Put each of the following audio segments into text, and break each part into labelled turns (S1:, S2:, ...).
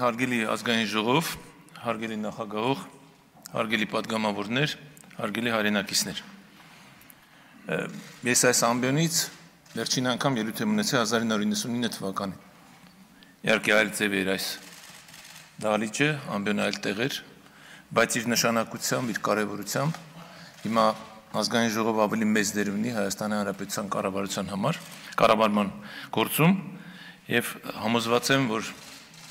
S1: Հարգելի ազգային ժողով, հարգելի նախագահող, հարգելի պատգամավորներ, հարգելի հայրենակիցներ։ Ես այս ամբիոնից վերջին անգամ ելույթ եմ ունեցել 1999 թվականին։ Իհարկե այլ ձև էր այս դահլիճը, ամբիոնը այլ տեղ էր, բայց իր նշանակությամբ, իր կարևորությամբ հիմա ազգային ժողով ավելի մեծ դեր ունի Հայաստանի Հանրապետության կառավարման գործում եւ համոզված եմ, որ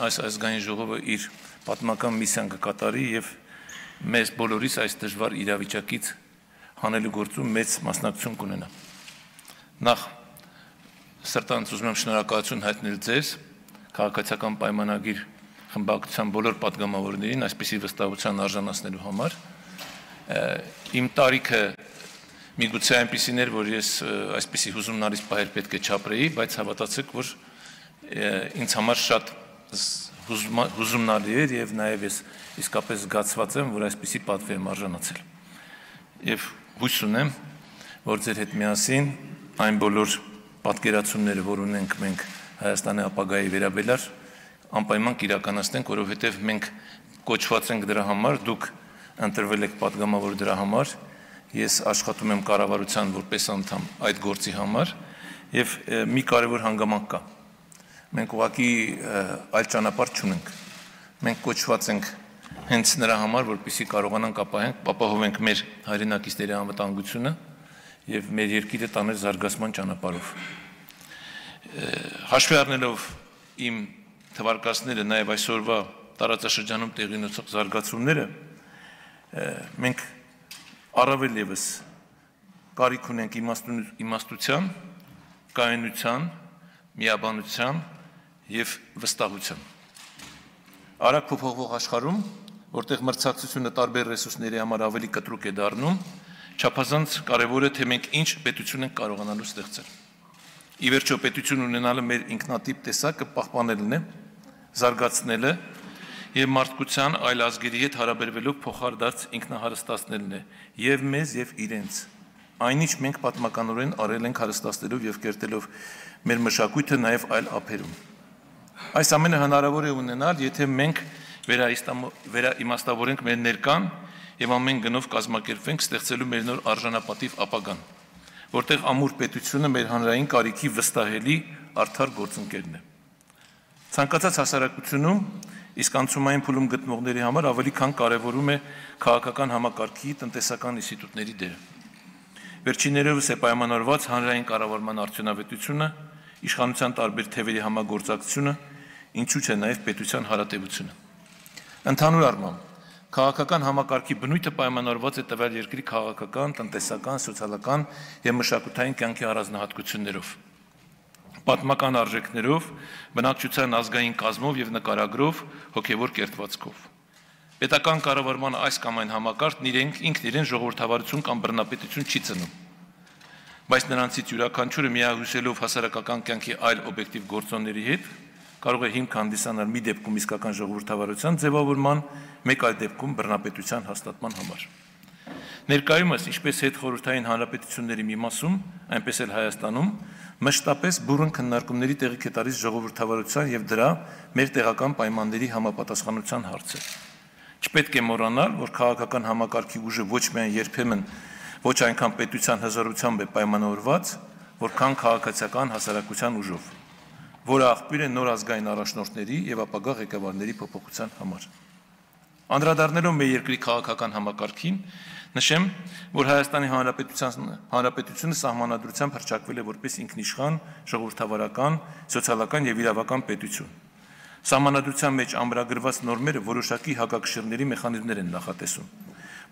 S1: այս ազգային ժողովը իր պատմական միսիան կկատարի եւ մեզ բոլորիս այս դժվար իրավիճակից հանելու գործում մեծ մասնակցություն կունենա։ Նախ սրտանց ուզում եմ շնորհակալություն հայտնել ձեզ քաղաքացիական պայմանագիր խմբակցության բոլոր պատգամավորներին այսպիսի վստահության արժանացնելու համար։ Իմ տարիքը միգուցե այնպիսին էր, որ ես այսպիսի հուզումնալից պահեր պետք է չապրեի, բայց հավատացեք, որ ինձ համար շատ հուզումնալի էր եւ նաեւ ես իսկապես զգացված եմ, որ այսպիսի պատվի եմ արժանացել։ Եվ հույս ունեմ, որ ձեր հետ միասին այն բոլոր պատկերացումները, որ ունենք մենք Հայաստանի ապագայի վերաբերյալ, անպայման կիրականացնենք, որովհետեւ մենք կոչված ենք դրա համար, դուք ընտրվել եք պատգամավոր դրա համար, ես աշխատում եմ կառավարության որպես անդամ այդ գործի համար եւ մի կարեւոր հանգամանք կա։ Մենք ուղղակի այլ ճանապարհ չունենք։ Մենք կոչված ենք հենց նրա համար, որպեսզի կարողանանք ապահովենք մեր հայրենակիցների անվտանգությունը եւ մեր երկիրը տանել զարգացման ճանապարհով։ Հաշվի առնելով իմ թվարկածները, նաեւ այսօրվա տարածաշրջանում տեղի ունեցող զարգացումները, մենք առավել եւս կարիք ունենք իմաստության, կայունության, միաբանության եւ վստահության։ Արագ փոփոխվող աշխարհում, որտեղ մրցակցությունը տարբեր ռեսուրսների համար ավելի կտրուկ է դառնում, չափազանց կարեւոր է, թե մենք ինչ պետություն ենք կարողանալու ստեղծել։ Ի վերջո պետություն ունենալը մեր ինքնատիպ տեսակը պահպանելն է, զարգացնելը եւ մարդկության այլ ազգերի հետ հարաբերվելով փոխարդարձ ինքնահարստացնելն է եւ մեզ եւ իրենց։ Այնինչ մենք պատմականորեն արել ենք հարստացնելով եւ կերտելով մեր մշակույթը նաեւ այլ ափերում։ Այս ամենը հնարավոր է ունենալ, եթե մենք վերաիմաստավորենք մեր ներկան եւ ամեն գնով կազմակերպվենք ստեղծելու մեր նոր արժանապատիվ ապագան, որտեղ ամուր պետությունը մեր հանրային կարիքի վստահելի արդար գործընկերն է։ Ցանկացած հասարակությունում իսկ անցումային փուլում գտնողների համար ավելի քան կարևորում է քաղաքական համակարգի տնտեսական ինստիտուտների դերը։ Վերջիններս է պայմանավորված հանրային կառավարման արդյունավետությունը, իշխանության տարբեր թևերի համագործակցությունը, ինչու՞ չէ նաև պետության հարատևությունը։ Ընդհանուր առմամբ, քաղաքական համակարգի բնույթը պայմանավորված է տվյալ երկրի քաղաքական, տնտեսական, սոցիալական եւ մշակութային կյանքի առանձնահատկություններով, պատմական արժեքներով, բնակչության ազգային կազմով եւ նկարագրով, հոգեվոր կերտվածքով։ Պետական կառավարման այս կամ այն համակարգն ինքն իրեն ժողովրդավարություն կամ բռնապետություն չի ծնում, բայց նրանցից յուրաքանչյուրը միահյուսելով հասարակական կյանքի այլ օբյեկտիվ գործոնների հետ կարող է հիմք հանդիսանալ մի դեպքում իսկական ժողովրդավարության ձևավորման, մեկ այլ դեպքում բռնապետության հաստատման համար։ Ներկայումս, ինչպես հետխորհրդային հանրապետությունների մի մասում, այնպես էլ Հայաստանում, մշտապես բուռն քննարկումների տեղիք է տալիս ժողովրդավարության եւ դրա մեր տեղական պայմանների համապատասխանության հարցը։ Չպետք է մոռանալ, որ քաղաքական համակարգի ուժը ոչ միայն երբեմն ոչ այնքան պետության հզորությամբ է պայմանավորված, որքան քաղաքացիական հասարակության ուժով, որը աղբյուր է նոր ազգային առաջնորդների եւ ապագա ղեկավարների փոփոխության համար։ Անդրադառնալով մեր երկրի քաղաքական համակարգին, նշեմ, որ Հայաստանի Հանրապետությունը սահմանադրությամբ հռչակվել է որպես ինքնիշխան, ժողովրդավարական, սոցիալական եւ իրավական պետություն։ Սահմանադրության մեջ ամրագրված նորմերը որոշակի հակակշիռների մեխանիզմներ են նախատեսում,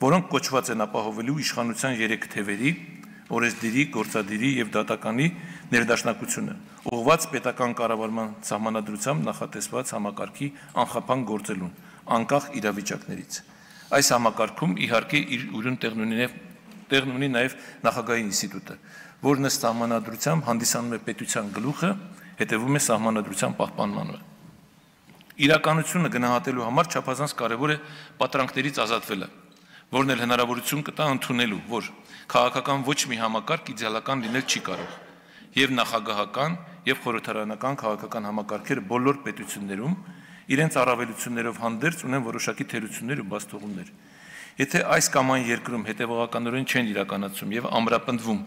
S1: որոնք կոչված են ապահովելու իշխանության 3 թևերի՝ օրենսդիրի, գործադիրի եւ դատականի ներդաշնակությունը, ուղղված պետական կառավարման սահմանադրությամբ նախատեսված համակարգի անխափան գործելուն, անկախ իրավիճակներից։ Այս համակարգում իհարկե իր ուրույն տեղն ունի նաեւ նախագահի ինստիտուտը, որն ըստ սահմանադրությամբ հանդիսանում է պետության գլուխը, հետևում է սահմանադրության պահպանմանը։ Իրականությունը գնահատելու համար չափազանց կարևոր է պատրանքներից ազատվելը, որն էլ հնարավորություն կտա ընդունելու, որ քաղաքական ոչ մի համակարգ իդեալական լինել չի կարող, եւ նախագահական եւ խորհրդարանական քաղաքական համակարգերը բոլոր պետություններում իրենց առավելություններով հանդերձ ունեն որոշակի թերություններ ու բացթողումներ։ Եթե այս կամ այն երկրում հետևողականորեն չեն իրականացում եւ ամրապնդվում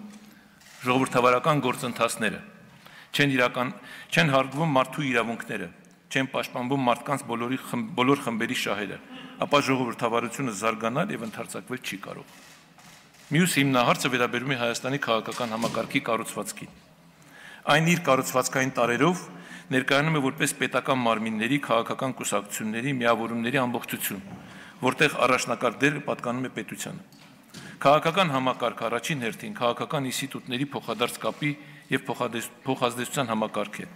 S1: ժողովրդավարական գործընթացները, չեն հարգվում մարդու իրավունքները, չեն պաշտպանվում մարդկանց բոլոր խմբերի շահերը, ապա ժողովրդավարությունը զարգանալ եւ ընդարձակվել չի կարող։ Մյուս հիմնահարցը վերաբերում է Հայաստանի քաղաքական համակարգի կառուցվածքին։ Այն իր կառուցվածքային տարերով ներկայանում է որպես պետական մարմինների, քաղաքական կուսակցությունների, միավորումների ամբողջություն, որտեղ առաջնակարգ դերը պատկանում է պետությանը։ Քաղաքական համակարգ առաջին հերթին քաղաքական ինստիտուտների փոխադարձ կապի եւ փոխազդեցության համակարգ է,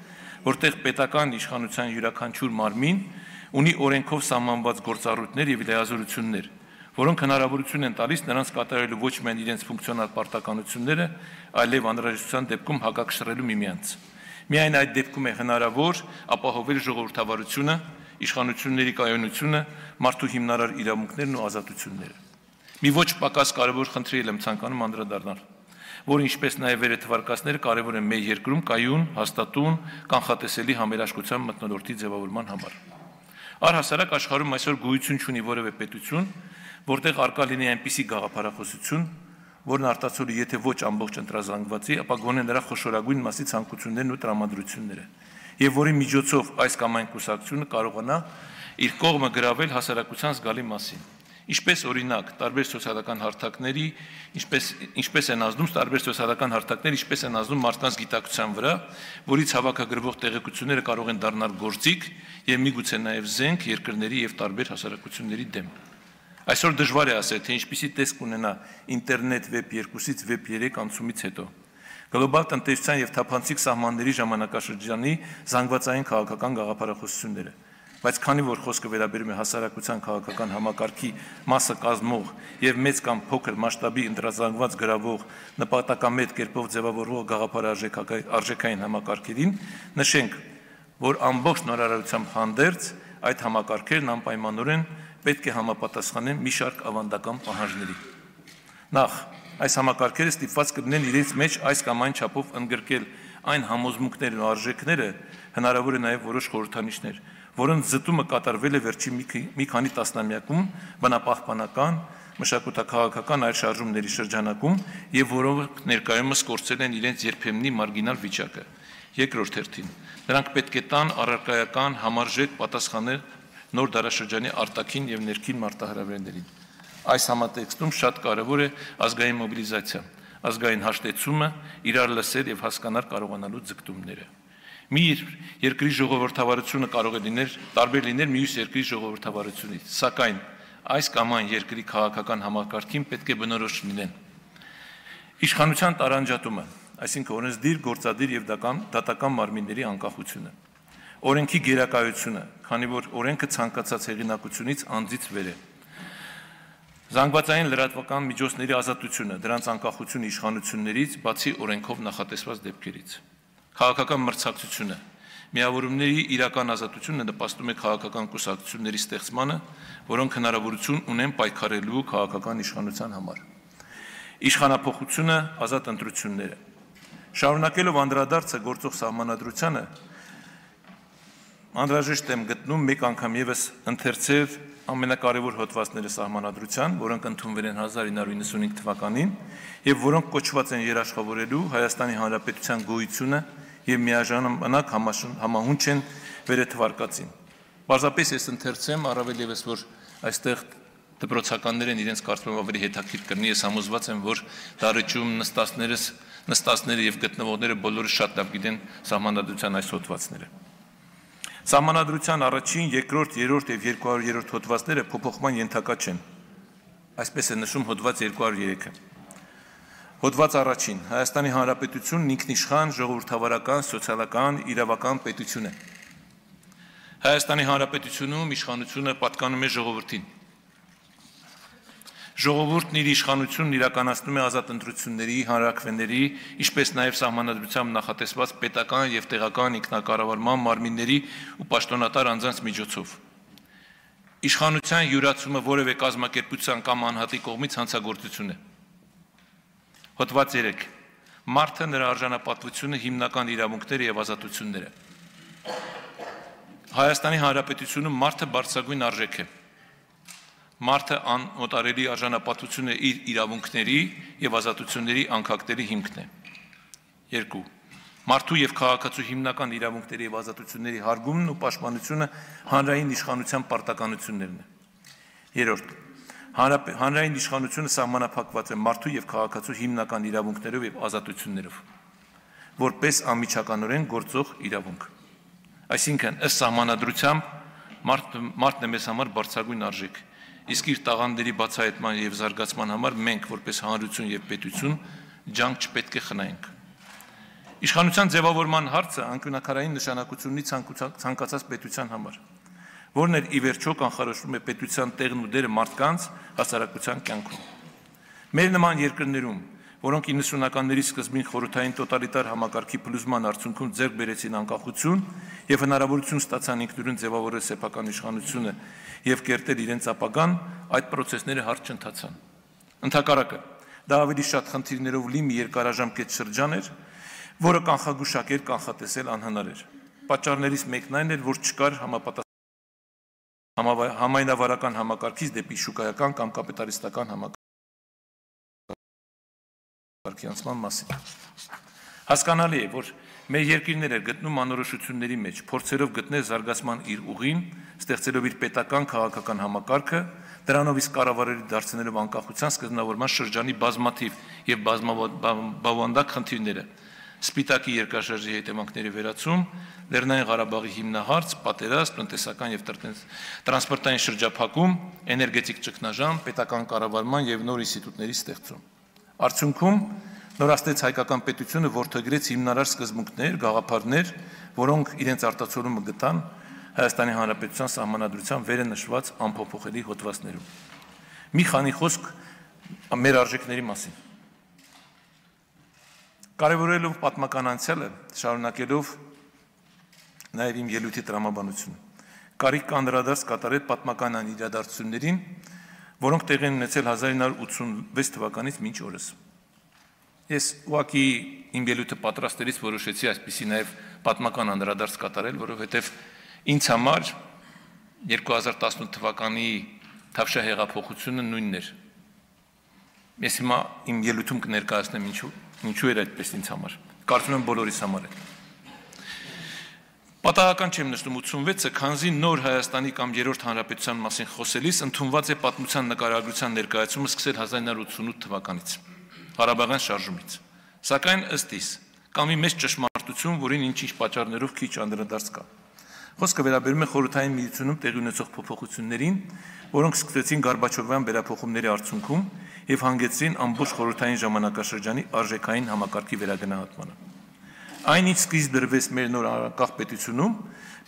S1: որտեղ պետական իշխանության յուրաքանչյուր մարմին ունի օրենքով սահմանված գործառույթներ եւ լիազորություններ, որոնք հնարավորություն են տալիս նրանց կատարելու ոչ միայն իրենց ֆունկցիոնալ պարտականությունները, այլև անհրաժեշտության դեպքում հակակշռելու միմյանց։ Միայն այդ դեպքում է հնարավոր ապահովել ժողովրդավարությունը, իշխանությունների կայունությունը, մարդու հիմնարար իրավունքներն ու ազատությունները։ Մի ոչ պակաս կարևոր խնդրի եմ ցանկանում անդրադառնալ, որ ինչպես նաև վերաթվարկածները կարևոր են մեր երկրում կայուն, հաստատուն, կանխատեսելի համերաշխության մթնոլորտի ձևավորման համար։ Առհասարակ աշխարհում այսօր գոյություն չունի որևէ պետություն, որտեղ արկա լինի այնպիսի գաղափարախոսություն, որն արտացոլի եթե ոչ ամբողջ ընտրազանգվածի, ապա գոնե նրա խոշորագույն մասի ցանկություններն ու տրամադրությունները, եւ որի միջոցով այս կամ այն կուսակցությունը կարողանա իր կողմը գրավել հասարակության զգալի մասին։ Ինչպես օրինակ, տարբեր սոցիալական հարթակների, ինչպես են ազդում տարբեր սոցիալական հարթակներ, ինչպես են ազդում մարդկանց գիտակցության վրա, որից հավաքագրվող տեղեկությունները կարող են դառնալ գործիք եւ միգուցե նաեւ զենք երկրների եւ տարբեր հասարակությունների դեմ։ Այսօր դժվար է ասել, թե ինչպիսի տեսք ունենա ինտերնետ վեբ 2-ից վեբ 3 անցումից հետո։ Գլոբալ տնտեսության եւ թափանցիկ սահմանների ժամանակաշրջանի զանգվածային քաղաքական գաղափարախոսությունները, բայց քանի որ խոսքը վերաբերում է հասարակության քաղաքական համակարգի մասը կազմող եւ մեծ կամ փոքր մասշտաբի ընտրազանգված գրավող նպատակամետ կերպով ձևավորվող գաղափարարժեքային համակարգերին, նշենք, որ ամբողջ նորարարությամբ հանդերձ այդ համակարգերն անպայմանորեն պետք է համապատասխանեն մի շարք ավանդական պահանջների։ Նախ, այս համակարգերը ստիպված կլինեն իրենց մեջ այս կամ այն չափով ընդգրկել այն համոզմունքներն ու արժեքները, հնարավոր է նաև որոշ խորհրդանիշներ, որոնց զտումը կատարվել է վերջին մի քանի տասնամյակում բնապահպանական, մշակութաքաղաքական այլ շարժումների շրջանակում եւ որոնք ներկայումս կորցրել են իրենց երբեմնի մարգինալ վիճակը։ Երկրորդ հերթին, նրանք պետք է տան առարկայական համարժեք պատասխաններ նոր դարաշրջանի արտաքին եւ ներքին մարտահրավերներին։ Այս համատեքստում շատ կարևոր է ազգային մոբիլիզացիա, ազգային հաշտեցումը, իրար լսել եւ հասկանալ կարողանալու ձգտումները։ Մի երկրի ժողովրդավարությունը կարող է տարբեր լինել մյուս երկրի ժողովրդավարությունից, սակայն այս կամ այն երկրի քաղաքական համակարգին պետք է բնորոշ լինեն իշխանության տարանջատումը, այսինքն օրենսդիր, գործադիր եւ դատական մարմինների անկախությունը, օրենքի գերակայությունը, քանի որ օրենքը ցանկացած հեղինակությունից անձից վեր է, զանգվածային լրատվական միջոցների ազատությունը, դրանց անկախությունը իշխանություններից, բացի օրենքով նախատեսված դեպքերից, քաղաքական մրցակցությունը, միավորումների իրական ազատությունը նպաստում է քաղաքական կուսակցությունների ստեղծմանը, որոնք հնարավորություն ունեն պայքարելու քաղաքական իշխանության համար, իշխանափոխությունը, ազատ ընտրությունները, շարունակելով անդրադարձը գործող սահմանադրությանը, անհրաժեշտ եմ գտնում մեկ անգամ եւս ընթերցել ամենակարևոր հոդվածները սահմանադրության, որոնք ընդունվել են 1995 թվականին եւ որոնք կոչված են երաշխավորելու Հայաստանի Հանրապետության գոյությունը եւ միաժամանակ համահունչ են վերաթվարկածին։ Պարզապես ես ընթերցեմ, առավել եւս որ այստեղ դպրոցականներ են իրենց կարծում ավելի հետաքրքիր կրնի, ես համոզված եմ, որ դարիճում նստածները եւ գտնվողները բոլորը շատ լավ գիտեն սահմանադրության այս հոդվածները։ Սահմանադրության առաջին, երկրորդ, երրորդ եւ 200-րդ հոդվածները փոփոխման ենթակա չեն։ Այսպես է նշում հոդված 203-ը։ Հոդված առաջին. Հայաստանի Հանրապետությունն ինքնիշխան, ժողովրդավարական, սոցիալական, իրավական պետություն է։ Հայաստանի Հանրապետությունում իշխանությունը պատկանում է ժողովրդին։ Ժողովուրդն իր իշխանությունն իրականացնում է ազատ ընտրությունների, հանրաքվեների, ինչպես նաև սահմանադրությամբ նախատեսված պետական եւ տեղական ինքնակառավարման մարմինների ու պաշտոնատար անձանց միջոցով։ Իշխանության յուրացումը որևէ կազմակերպության կամ անհատի կողմից հանցագործություն է։ Հոդված 3. Մարդը, նրա արժանապատվությունը, հիմնական իրավունքները եւ ազատությունները։ Հայաստանի Հանրապետությունում մարդը բարձրագույն արժեք է։ Մարդը անօտարելի արժանապատվությունը իր իրավունքների եւ ազատությունների անկախների հիմքն է։ 2. Մարդու եւ քաղաքացու հիմնական իրավունքների եւ ազատությունների հարգումն ու պաշտպանությունը հանրային իշխանության պարտականություններն է։ 3. Հանրային իշխանությունը սահմանափակված է մարդու եւ քաղաքացու հիմնական իրավունքներով եւ ազատություններով, որպես անմիջականորեն գործող իրավունք։ Այսինքն, ըստ սահմանադրությամբ մարդն է մեզ համար բարձրագույն արժեք, իսկ իր տաղանդների բացահայտման եւ զարգացման համար մենք, որպես հանրություն եւ պետություն, ջանք չպետք է խնայենք։ Իշխանության ձևավորման հարցը անկյունաքարային նշանակություն ունի ցանկացած պետության համար, որն էլ ի վերջո կանխորոշվում է պետության տեղն ու դերը մարդկանց հասարակության կյանքում։ Մեր նման երկրներում, որոնք 90-ականների սկզբին խորհրդային տոտալիտար համակարգի փլուզման արդյունքում ձեռք բերեցին անկախություն եւ հնարավորություն ստացան ինքնուրույն ձևավորել սեփական իշխանությունը եւ կերտել իրենց ապագան, այդ process-ները հարթ չընթացան։ Ընդհակառակը, դա ավելի շատ խնդիրներով լի մի երկարաժամկետ շրջան էր, որը կանխագուշակել, կանխատեսել անհնար էր։ Պատճառներից մեկն այն էր, որ չկար համայնավարական համակարգից դեպի շուկայական կամ կապիտալիստական համակարգ անցման մասին։ Հասկանալի է, որ մեր երկիրներ էր գտնում անորոշությունների մեջ, փորձերով գտնել զարգացման իր ուղին, ստեղծելով իր պետական քաղաքական համակարգը, դրանով իսկ կառավարելի դարձնելով անկախության սկզբնավորման շրջանի բազմաթիվ եւ բազմաբավանդակ խնդիրները, Սպիտակի երկրաշարժի հետևանքների վերացում, Լեռնային Ղարաբաղի հիմնահարց, պատերազմ, տնտեսական եւ տրանսպորտային շրջափակում, էներգետիկ ճգնաժամ, պետական կառավարման եւ նոր ինստիտուտների ստեղծում։ Արդյունքում նորաստեց հայկական պետությունը որդեգրեց հիմնարար սկզբունքներ, գաղափարներ, որոնք իրենց արտացոլումը գտան Հայաստանի Հանրապետության սահմանադրության վերը նշված անփոփոխելի հոդվածներում։ Մի քանի խոսք մեր արժեքների մասին։ Կարևորելով պատմական անցյալը, շարունակելով նաև իմ ելույթի տրամաբանությունը, կարիք կա անդրադարձ կատարել պատմական իրադարձություններին, որոնք տեղի են ունեցել 1986 թվականից մինչ օրս։ Ես ուղղակի իմ ելույթը պատրաստելիս որոշեցի այսպիսի նաև պատմական անդրադարձ կատարել, որովհետև ինձ համար 2018 թվականի Թավշյա հեղափոխությունը նույնն էր։ Ես հիմա իմ ելույթում կներկայացնեմ ինչու էր այդպես ինձ համար։ Կարծում եմ բոլորիս համար է։ Պատահական չեմ նշում 86-ը, քանզի նոր Հայաստանի կամ երրորդ հանրապետության մասին խոսելիս ընդունված է պատմության նկարագրության ներկայացումը սկսել 1988 թվականից, Ղարաբաղյան շարժումից։ Սակայն ըստ իս, կա մի մեծ ճշմարտություն, որին ինչ-ինչ պատճառներով քիչ անդրադարձ կա։ Խոսքը վերաբերում է խորհրդային միությունում տեղի ունեցող փոփոխություններին, որոնք սկսեցին Գորբաչովյան վերափոխումների արդյունքում եւ հանգեցրին ամբողջ խորհրդային ժամանակաշրջանի արժեքային համակարգի վերագնահատմանը։ Այն ինչ սկիզբ դրվեց մեր նոր անկախ պետությունում,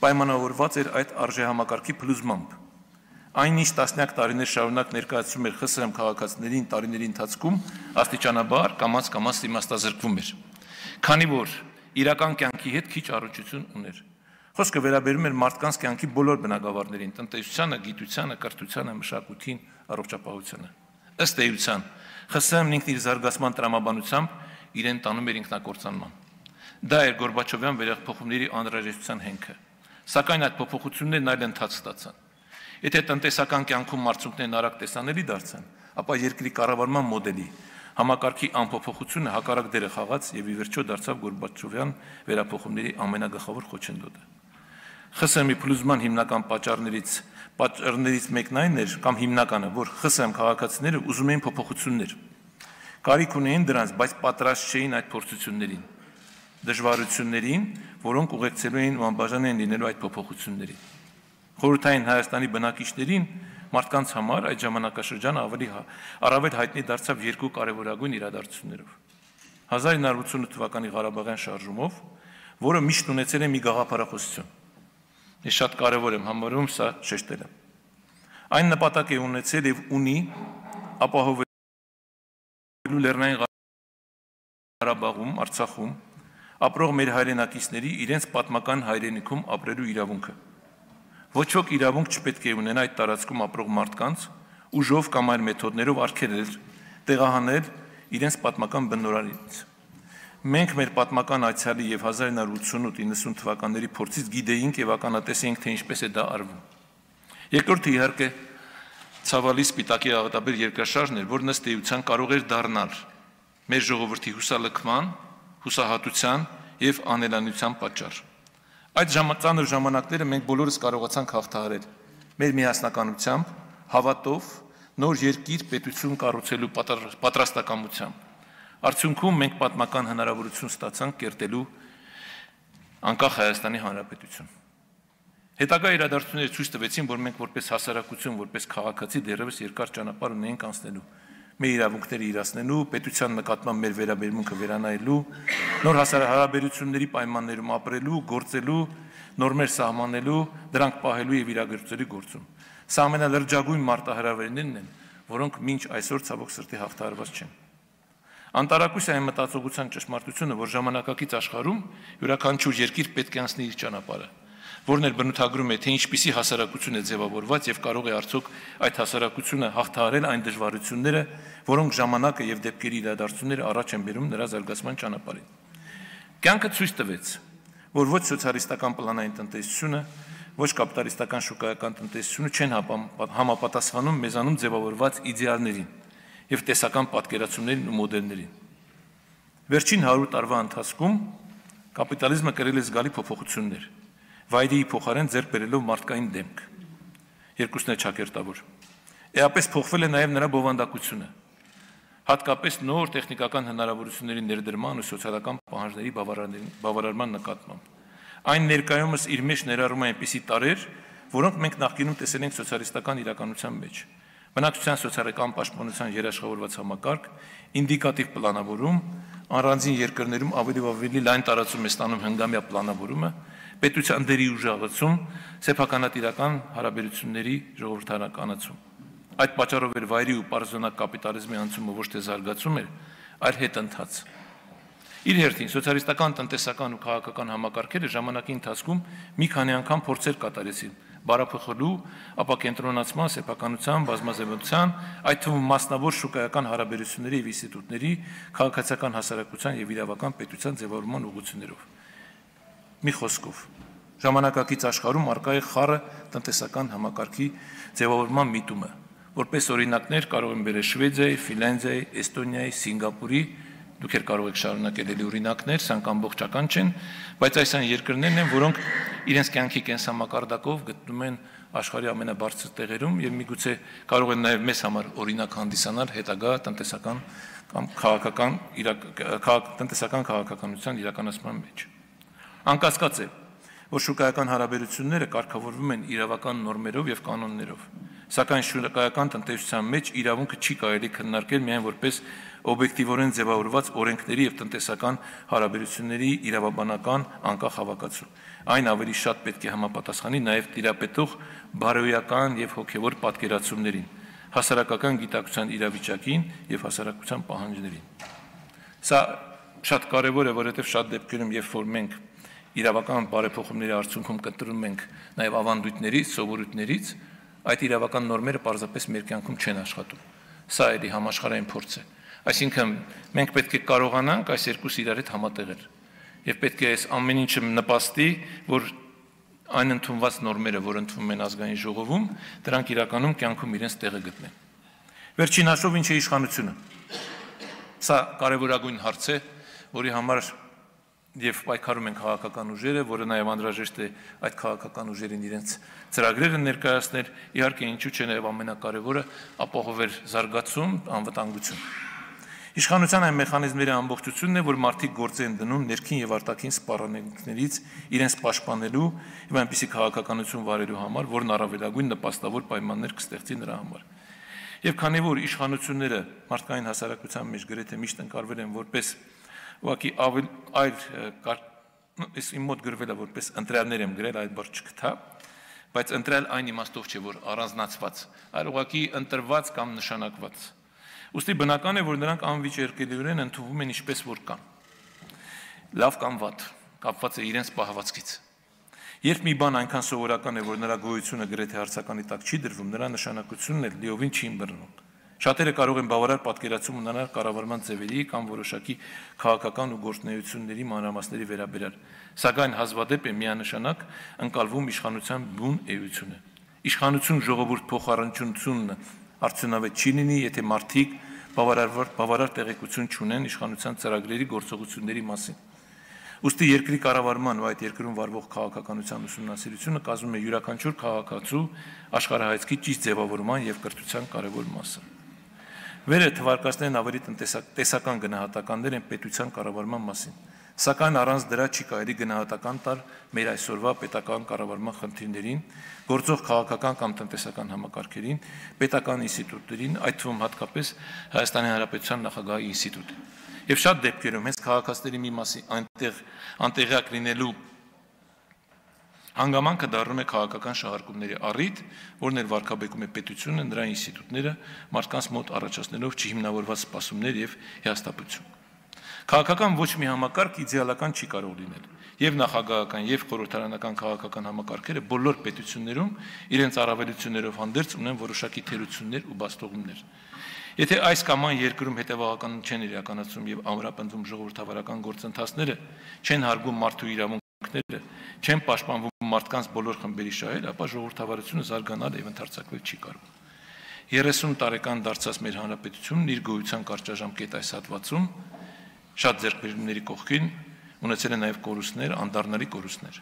S1: պայմանավորված էր այդ արժեհամակարգի փլուզմամբ։ Այն ինչ տասնյակ տարիներ շարունակ ներկայացում էր ԽՍՀՄ քաղաքացիներին տարիների ընթացքում, աստիճանաբար կամաց իմաստազրկվում էր, քանի որ իրական կյանքի հետ քիչ առնչություն ուներ։ Խոսքը վերաբերում էր մարդկանց կյանքի բոլոր բնագավառներին՝ տնտեսությանը, գիտությանը, կրթությանը, մշակույթին, առողջապահությանը։ Ըստ էության, ԽՍՀՄ-ն ինքն իր զարգացման տրամաբանությամբ իրեն տանում էր ինքնակործանման։ Դա էր Գորբաչովյան վերափոխումների անհրաժեշտության հենքը։ Սակայն այդ փոփոխություններն այլ ընթաց ստացան։ Եթե տնտեսական կյանքում արդյունքներն արագ տեսանելի դարձան, ապա երկրի կառավարման մոդելի համակարգի անփոփոխությունը հակառակ դերը խաղաց եւ ի վերջո դարձավ Գորբաչովյան վերափոխումների ամենագլխավոր խոչընդոտը։ ԽՍՀՄ-ի փլուզման հիմնական պատճառներից մեկն այն էր, կամ հիմնականը, որ ԽՍՀՄ քաղաքացիները ուզում էին փոփոխություններ, կարիք ունեին դրանց, բայց պատրաստ չէին այդ փորձություններին, դժվարություններին, որոնք ուղեկցելու էին ու անբաժան էին լինելու այդ փոփոխություններին։ Խորհրդային Հայաստանի բնակիչներին մարդկանց համար այդ ժամանակաշրջանը առավել հայտնի դարձավ երկու կարևորագույն իրադարձություններով։ 1988 թվականի Ղարաբաղյան շարժումով, որը միշտ ունեցել է մի գաղափարախոսություն։ Ես շատ կարևոր եմ համարում սա շեշտելը։ Այն նպատակ է ունեցել եւ ունի ապահովելու Լեռնային Ղարաբաղում, Արցախում ապրող մեր հայրենակիցների իրենց պատմական հայրենիքում ապրելու իրավունքը։ Ոչ ոք իրավունք չպետք է ունենա այդ տարածքում ապրող մարդկանց ուժով կամ այլ մեթոդներով արգելել, տեղահանել իրենց պատմական բնօրրանից։ Մենք մեր պատմական այցյալի եւ 1988-90 թվականների փորձից գիտեինք եւ ականատեսեինք, թե ինչպես է դա արվում։ Երկրորդը իհարկե ցավալի սպիտակի աղետաբեր երկրաշարժն էր, որն ըստ էության կարող էր դառնալ մեր ժողովրդի հուսալքման, հուսահատության եւ անելանության պատճառ։ Այդ ծանր ժամանակները մենք բոլորս կարողացանք հաղթահարել մեր միասնականությամբ, հավատով, նոր երկիր պետություն կառուցելու պատրաստակամությամբ։ Արդյունքում մենք պատմական հնարավորություն ստացանք կերտելու անկախ Հայաստանի Հանրապետություն։ Հետագա իրադարձությունները ցույց տվեցին, որ մենք որպես հասարակություն, որպես քաղաքացի դեռևս երկար ճանապարհ ունենք անցնելու, մեր իրավունքները իրացնելու, պետության նկատմամբ մեր վերաբերմունքը վերանայելու, նոր հարաբերությունների պայմաններում ապրելու, գործելու, նորմեր սահմանելու, դրանք պահելու եւ իրագործելու գործում։ Սա ամենալրջագույն մարտահրավերներն են, որոնք մինչ այսօր ցավոք սրտի հաղթահարված չեն։ Անտարակույս այն մտածողության ճշմարտությունը, որ ժամանակակից աշխարհում յուրաքանչյուր երկիր պետք է անցնի իր ճանապարհը, որն էլ բնութագրում է, թե ինչպիսի հասարակություն է ձևավորված եւ կարող է արդյոք այդ հասարակությունը հաղթահարել այն դժվարությունները, որոնք ժամանակը եւ դեպքերի իրադարձությունները առաջ են բերում նրա զարգացման ճանապարհին։ Կյանքը ցույց տվեց, որ ոչ սոցիալիստական պլանային տնտեսությունը, ոչ կապիտալիստական շուկայական տնտեսությունը չեն համապատասխանում մեզանում ձևավորված իդեալներին եւ տեսական պատկերացումներին ու մոդելներին։ Վերջին 100 տարվա ընթացքում կապիտալիզմը կրել է զգալի փոփոխություններ, վայրի փոխարեն ձեռք բերելով մարդկային դեմք։ Երկուսն է ճակերտավոր։ Էապես փոխվել է նաեւ նրա բովանդակությունը, հատկապես նոր տեխնիկական հնարավորությունների ներդրման ու սոցիալական պահանջների բավարարման նկատմամբ։ Այն ներկայումս իր մեջ ներառում է այնպիսի տարրեր, որոնք մենք նախկինում տեսել ենք սոցիալիստական իրականության մեջ։ Բնակչության սոցիալական պաշտպանության երաշխավորված համակարգ, ինդիկատիվ պլանավորում, առանձին երկրներում ավելի լայն տարածում է ստանում հնգամյա պլանավորումը, պետության դերի ուժեղացում, սեփականատիրական հարաբերությունների ժողովրդականացում։ Այդ պատճառով էր վայրի ու պարզոնակ կապիտալիզմի անցումը ոչ թե զարգացում էր, այլ հետընթաց։ Իր հերթին սոցիալիստական տնտեսական ու քաղաքական համակարգերը ժամանակի ընթացքում մի քանի անգամ փորձեր կատարեցին բարափոխելու, ապակենտրոնացման, սեփականության, բազմազանության, այդ թվում մասնավոր շուկայական հարաբերությունների եւ ինստիտուտների, քաղաքացիական հասարակության եւ իրավական պետության ձևավորման ուղղություններով։ Մի խոսքով, ժամանակակից աշխարհում արկա է խառը տնտեսական համակարգի ձևավորման միտումը, որպես օրինակներ կարող են բերել Շվեդիայի, Ֆինլանդիայի, Էստոնիայի, Սինգապուրի, դուք կարող եք շարունակել էլի օրինակներ, սրանք ամբողջական չեն, բայց այս այն երկրներն են, որոնք իրենց կյանքի կենսամակարդակով գտնում են աշխարհի ամենաբարձր տեղերում եւ միգուցե կարող են նաեւ մեզ համար օրինակ հանդիսանալ հետագա տնտեսական կամ քաղաքականության իրականացման մեջ։ Անկասկած է, որ շուկայական հարաբերությունները կարգավորվում են իրավական նորմերով եւ կանոններով, սակայն շուկայական տնտեսության մեջ իրավունքը չի կարելի քննարկել միայն որպես օբյեկտիվորեն ձևավորված օրենքների եւ տնտեսական հարաբերությունների իրավաբանական անկախ հավաքածու։ Այն ավելի շատ պետք է համապատասխանի նաեւ տիրապետող բարոյական եւ հոգեվոր պատկերացումներին, հասարակական գիտակցության իրավիճակին եւ հասարակության պահանջներին։ Սա շատ կարեւոր է, որովհետեւ շատ դեպքերում, երբ որ մենք իրավական բարեփոխումների արդյունքում կտրում ենք նաեւ ավանդույթներից, սովորույթներից, այդ իրավական նորմերը պարզապես մեր կյանքում չեն աշխատում։ Սա էլի համաշխարհային փորձ է։ Այսինքն մենք պետք է կարողանանք այս երկուսը իրար հետ համատեղել եւ պետք է այս ամեն ինչը նպաստի, որ այն ընդունված նորմերը, որ ընդունվում են ազգային ժողովում, դրանք իրականում կյանքում իրենց տեղը գտնեն։ Վերջին հաշվով ինչ է իշխանությունը։ Սա կարևորագույն հարց է, որի համար եւ պայքարում են քաղաքական ուժերը, որը նաեւ անհրաժեշտ է այդ քաղաքական ուժերին իրենց ծրագրերը ներկայացնել, իհարկե ինչու՞ չէ նաեւ ամենակարևորը ապահովել զարգացում, անվտանգություն։ Իշխանության այն մեխանիզմների ամբողջությունն է, որ մարդիկ գործ են դնում ներքին եւ արտաքին սպառնալիքներից իրենց պաշտպանելու եւ այնպիսի քաղաքականություն վարելու համար, որն առավելագույն նպաստավոր պայմաններ կստեղծի նրա համար։ Եվ քանի որ իշխանությունները մարդկային հասարակության մեջ գրեթե միշտ ընկալվել են որպես ուղղակի այս իմ մոտ գրվել է որպես ընտրյալներ եմ գրել, այդ բառը չգտա, բայց ընտրյալ այն իմաստով չէ, որ առանձնացված, այլ ուղղակի ընտրված կամ նշանակված։ Ուստի բնական է, որ նրանք անվիճարկելիորեն ընդունվում են ինչպես որ կան։ Լավ կամ վատ, կապված է իրենց պահվածքից։ Երբ մի բան այնքան սովորական է, որ նրա գոյությունը գրեթե հարցականի տակ չի դրվում, նրա նշանակությունն էլ լիովին չի ըմբռնում։ Շատերը կարող են բավարար պատկերացում ունենալ կառավարման ձևերի կամ որոշակի քաղաքական ու գործունեությունների մանրամասների վերաբերյալ, սակայն հազվադեպ է միանշանակ ընկալվում իշխանության բուն էությունը։ Իշխանություն ժողովուրդ փոխառնչությունն արդյունավետ չի լինի, եթե մարդիկ բավարար տեղեկություն չունեն իշխանության ծրագրերի գործողությունների մասին։ Ուստի երկրի կառավարման ու այդ երկրում վարվող քաղաքականության ուսումնասիրությունը կազմում է յուրաքանչյուր քաղաքացու աշխարհայացքի ճիշտ ձևավորման եւ կրթության կարևոր մասը։ Վերը թվարկածներն ավելի տեսական գնահատականներ են պետության կառավարման մասին, սակայն առանց դրա չի կարելի գնահատական տալ մեր այսօրվա պետական կառավարման խնդիրներին, գործող քաղաքական կամ տնտեսական համակարգերին, պետական ինստիտուտներին, այդ թվում հատկապես Հայաստանի Հանրապետության նախագահի ինստիտուտը։ Եվ շատ դեպքերում հենց քաղաքացիների մի մասի անտեղյակ լինելու հանգամանքը դառնում է քաղաքական շահարկումների առիթ, որն էլ վարկաբեկում է պետությունը, նրա ինստիտուտները, մարդկանց մոտ առաջացնելով չհիմնավորված սպասումներ եւ հիասթափություն։ Քաղաքական ոչ մի համակարգ իդեալական չի կարող լինել, եւ նախագահական եւ խորհրդարանական քաղաքական համակարգերը բոլոր պետություններում իրենց առավելություններով հանդերձ ունեն որոշակի թերություններ ու բացթողումներ։ Եթե այս կամ այն երկրում հետևողական չեն իրականացում եւ ամրապնդվում ժողովրդավարական գործընթացները, չեն հարգում մարդու իրավունքները, չեն պաշտպանվում մարդկանց բոլոր խմբերի շահերը, ապա ժողովրդավարությունը զարգանալ եւ ընդարձակվել չի կարող։ 30 տարեկան դարձած մեր հանրապետությունն իր գոյության կարճաժամկետ այս հատվածում շատ ձեռքբերումների կողքին ունեցել է նաեւ կորուստներ, անդառնալի կորուստներ։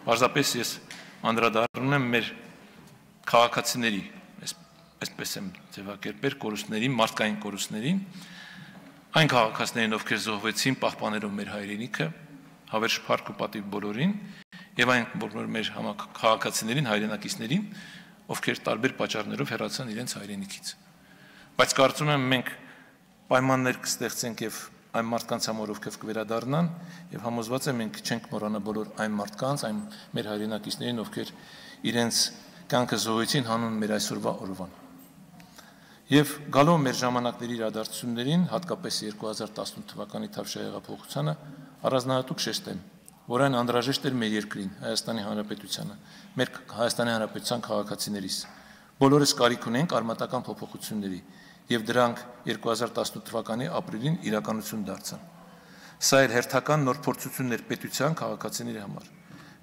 S1: Պարզապես ես անդրադառնում եմ մեր քաղաքացիների, այսպես եմ ձևակերպել, կորուստներին, մարդկային կորուստներին, այն քաղաքացիներին, ովքեր զոհվեցին պահպանելով մեր հայրենիքը, հավերժ փառք ու պատիվ բոլորին, եւ այն բոլոր մեր քաղաքացիներին, հայրենակիցներին, ովքեր տարբեր պատճառներով հեռացան իրենց հայրենիքից։ Բայց կարծում եմ մենք պայմաններ կստեղծենք եւ այն մարդկանց համար, ովքեր կվերադառնան, եւ համոզված եմ մենք չենք մոռանա բոլոր այն մարդկանց, այն մեր հայրենակիցներին, ովքեր իրենց կյանքը զոհեցին հանուն մեր այսօրվա օրվան։ Եվ գալով մեր ժամանակների իրադարձություններին, հատկապես 2018 թվականի Թավշյա հեղափոխությանը, առանձնահատուկ շեշտեմ, որ այն անհրաժեշտ էր մեր երկրին, Հայաստանի Հանրապետությանը, մեր Հայաստանի Հանրապետության քաղաքացիներիս։ Բոլորս կարիք ունենք արմատական փոփոխությունների, եւ դրանք 2018 թվականի ապրիլին իրականություն դարձան։ Սա էր հերթական նոր փորձություններ պետության քաղաքացիների համար։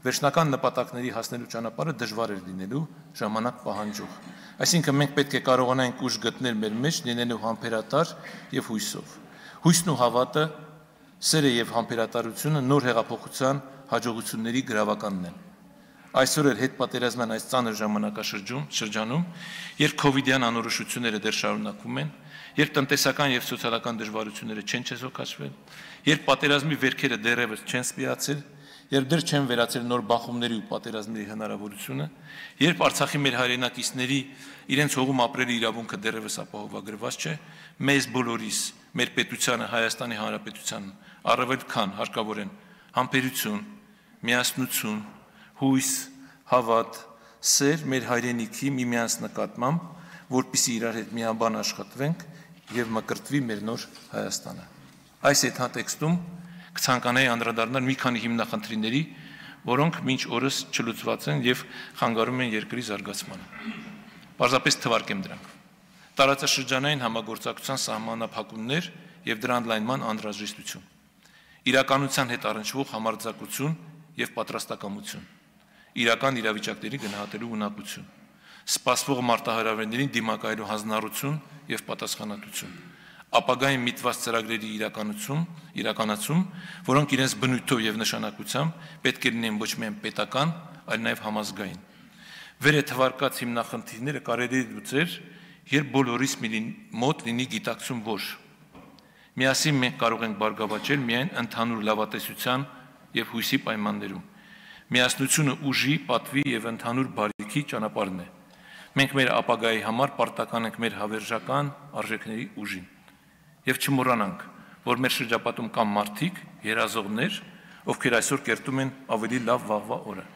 S1: Վերջնական նպատակների հասնելու ճանապարհը դժվար էր լինելու, ժամանակ պահանջող։ Այսինքն մենք պետք է կարողանանք ուժ գտնել մեր մեջ, լինելու համբերատար եւ հույսով։ Հույսն ու հավատը, սերը եւ համբերատարությունը նոր հեղափոխության հաջողությունների գրավականն են։ Այսօր էլ հետպատերազմյան այս ծանր ժամանակաշրջանում, երբ կովիդյան անորոշությունները դեռ շարունակվում են, երբ տնտեսական եւ սոցիալական դժվարությունները չեն չեզոքացվել, երբ պատերազմի վերքերը դեռևս չեն սպիացել, երբ դեռ չեն վերացել նոր բախումների ու պատերազմների հնարավորությունը, երբ Արցախի մեր հայրենակիցների իրենց հողում ապրելի իրավունքը դեռևս ապահովագրված չէ, մեզ բոլորիս, մեր պետությանը, Հայաստանի Հանրապետությանն առավել քան հարկավոր են համբերություն, միասնություն, հույս, հավատ, սեր մեր հայրենիքի միմյանց նկատմամբ, որպեսզի իրար հետ միաբան աշխատվենք եւ մկրտվի մեր նոր Հայաստանը։ Այս հետհատեքստում կցանկանայի անդրադառնալ մի քանի հիմնախնդիրների, որոնք մինչ օրս չլուծված են եւ խանգարում են երկրի զարգացմանը։ Պարզապես թվարկեմ դրանք։ Տարածաշրջանային համագործակցության սահմանափակումներ եւ դրա ընդլայնման անհրաժեշտություն։ Իրականության հետ առնչվող համարձակություն եւ պատրաստակամություն։ Իրական իրավիճակների գնահատելու ունակություն, սպասվող մարտահրավերներին դիմակայելու հանձնառություն եւ պատասխանատվություն, ապագային միտված ծրագրերի իրականացում, որոնք իրենց բնույթով եւ նշանակությամբ պետք է լինեն ոչ միայն պետական, այլ նաեւ համազգային։ Վեր է թվարկած հիմնախնդիրները կարելի է լուծել, երբ բոլորիս մոտ լինի գիտակցում, որ միասին մենք կարող ենք բարգավաճել միայն ընդհանուր լավատեսության եւ հույսի պայմաններում։ Միասնությունը ուժի, պատվի եւ ընդհանուր բարիքի ճանապարհն է։ Մենք մեր ապագայի համար պարտական ենք մեր հավերժական արժեքների ուժին։ Եվ չմոռանանք, որ մեր շրջապատում կան մարդիկ, երազողներ, ովքեր այսօր կերտում են ավելի լավ վաղվա օրը։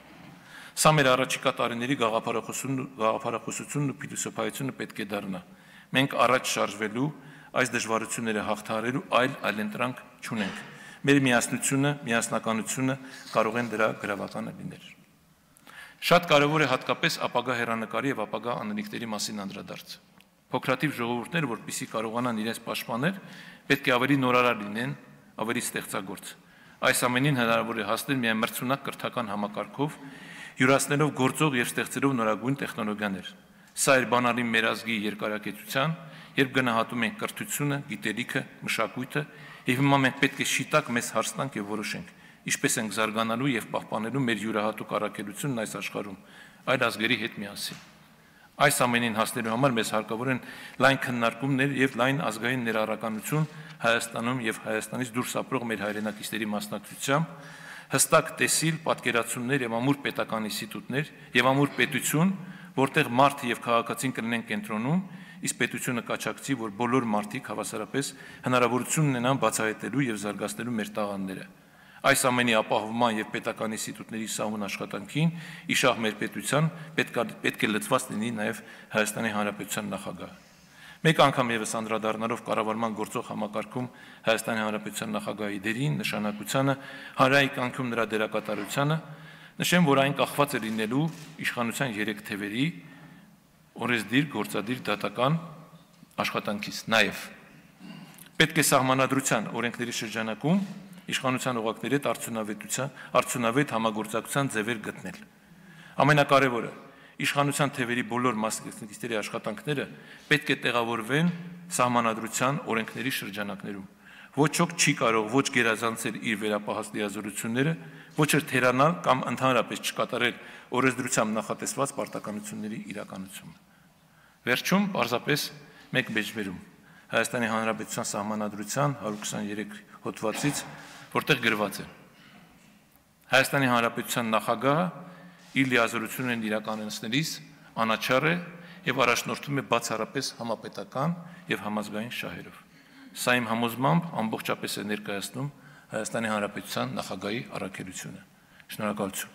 S1: Սա մեր առաջիկա տարիների գաղափարախոսությունն ու փիլիսոփայությունը պետք է դառնա։ Մենք առաջ շարժվելու, այս դժվարությունները հաղթահարելու այլընտրանք չունենք։ Մեր միասնությունը, միասնականությունը կարող են դրա գրավականը լինել։ Շատ կարևոր է հատկապես ապագա հեռանկարի եւ ապագա անելիքների մասին անդրադարձը։ Փոքրաթիվ ժողովուրդները, որպեսզի կարողանան իրենց պաշտպանել, պետք է ավելի նորարար լինեն, ավելի ստեղծագործ։ Այս ամենին հնարավոր է հասնել միայն մրցունակ կրթական համակարգով, յուրացնելով գործող եւ ստեղծելով նորագույն տեխնոլոգիաներ։ Սա էր բանալի մեր ազգի երկարակեցության, երբ գնահատում ենք կրթությունը, գիտելիքը, մշակույթը, եւ հիմա մենք պետք է շիտակ մեզ հարցնանք եւ որոշենք, ինչպես ենք զարգանալու եւ պահպանելու մեր յուրահատուկ առաքելությունն այս աշխարհում, այլ ազգերի հետ միասին։ Այս ամենին հասնելու համար մեզ հարկավոր են լայն քննարկումներ եւ լայն ազգային ներառականություն Հայաստանում եւ Հայաստանից դուրս ապրող մեր հայրենակիցների մասնակցությամբ, հստակ տեսիլ, պատկերացումներ եւ ամուր պետական ինստիտուտներ եւ ամուր պետություն, որտեղ մարդը եւ քաղաքացին կլինեն կենտրոնում, իսկ պետությունը կաչակցի, որ բոլոր մարդիկ հավասարապես հնարավորություն ունենան բացահայտելու եւ զարգացնելու մեր տաղանդները։ Այս ամենի ապահովման եւ պետական ինստիտուտների սահուն աշխատանքին իշահ մեր պետության պետք է լծված լինի նաեւ Հայաստանի Հանրապետության նախագահը։ Մեկ անգամ եւս անդրադառնալով կառավարման գործող համակարգում Հայաստանի Հանրապետության նախագահի դերին, նշանակությանը, հանրային կյանքում նրա դերակատարությանը, նշեմ, որ այն կախված է լինելու իշխանության 3 թևերի օրեսդիր, գործադիր, դատական աշխատանքից։ Նաեւ պետք է սահմանադրության օրենքների շրջանակում իշխանության օղակների հետ արդյունավետ համագործակցության ձևեր գտնել։ Ամենակարևորը, իշխանության թևերի բոլոր մասնակիցների աշխատանքները պետք է տեղավորվեն սահմանադրության օրենքների շրջանակներում։ Ոչ ոք չի կարող ոչ գերազանցել իր վերապահած լիազորությունները, ոչ էլ թերանալ կամ ընդհանրապես չկատարել օրենսդրությամբ նախատեսված պարտականությունների իրականությունը։ Վերջում պարզապես մեկ մեջբերում Հայաստանի Հանրապետության սահմանադրության 123 հոդվածից, որտեղ գրված է. Հայաստանի Հանրապետության նախագահը իր լիազորություններն իրականացնելիս անաչառ է եւ առաջնորդվում է բացառապես համապետական եւ համազգային շահերով։ Սա իմ համոզմամբ ամբողջապես է ներկայացնում Հայաստանի Հանրապետության նախագահի առաքելությունը։ Շնորհակալություն։